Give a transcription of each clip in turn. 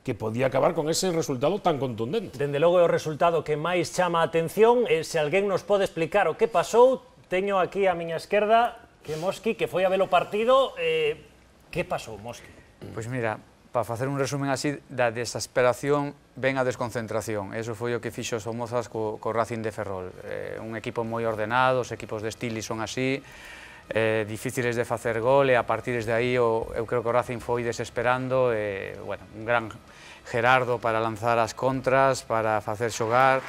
que podía acabar con ese resultado tan contundente. Dende logo é o resultado que máis chama a atención, e se alguén nos pode explicar o que pasou, teño aquí a miña esquerda que Mosqui, que foi a ver o partido. Que pasou, Mosqui? Pois mira, para facer un resumen así, da desesperación ven a desconcentración. Eso foi o que fixo os Somozas co Racing de Ferrol. Un equipo moi ordenado, os equipos de Stili son así, difíciles de facer gol, e a partir de aí eu creo que o Racing foi desesperando, bueno, un gran Gerardo para lanzar as contras, para facer xogar.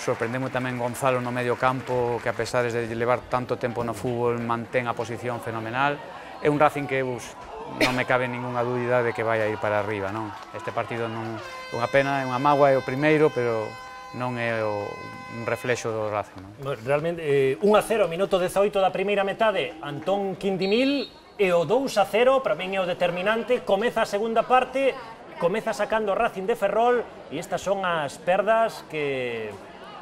Sorprendemos tamén Gonzalo no medio campo, que a pesar de levar tanto tempo no fútbol mantén a posición fenomenal. É un Racing que non me cabe ninguna dúbida de que vai a ir para arriba, non? Este partido non é unha pena, é unha mágoa, é o primeiro, pero non é un reflexo do Racing, non? Realmente, 1-0, minuto 18 da primeira metade, Antón Quindimil, e o 2-0, para min é o determinante, comeza a segunda parte, comeza sacando o Racing de Ferrol, e estas son as perdas que,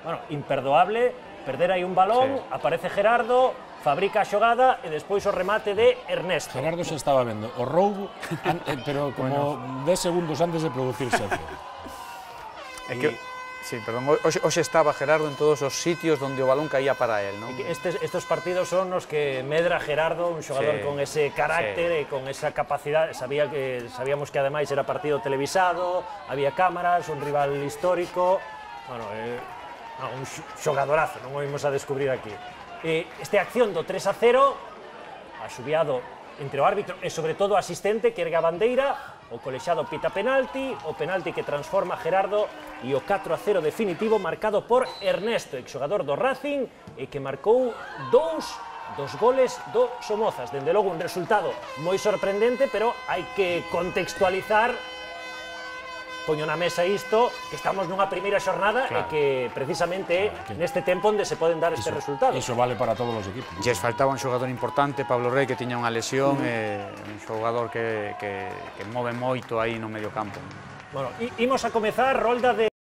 bueno, imperdoable, perder aí un balón, sí. Aparece Gerardo, fabrica a xogada e despois o remate de Ernesto. Gerardo xa estaba vendo o roubo, pero como 10 segundos antes de producirse. É que, sí, perdón, hoxe estaba Gerardo en todos os sitios onde o balón caía para él, non? Estes partidos son os que medra Gerardo, un xogador con ese carácter e con esa capacidade. Sabíamos que ademais era partido televisado, había cámaras, un rival histórico, bueno, un xogadorazo, non o imos a descubrir aquí. Esta acción do 3-0, asubiado entre o árbitro e sobre todo o asistente que ergue a bandeira, o colexado pita penalti, o penalti que transforma Gerardo e o 4-0 definitivo marcado por Ernesto, exxogador do Racing, e que marcou dos goles do Somozas. Dende logo un resultado moi sorprendente, pero hai que contextualizar. Poño na mesa isto, que estamos nunha primeira xornada e que precisamente é neste tempo onde se poden dar estes resultados. Iso vale para todos os equipos. Lles faltaba un xogador importante, Pablo Rey, que tiña unha lesión, un xogador que move moito aí no medio campo. Bueno, imos a comezar rolda de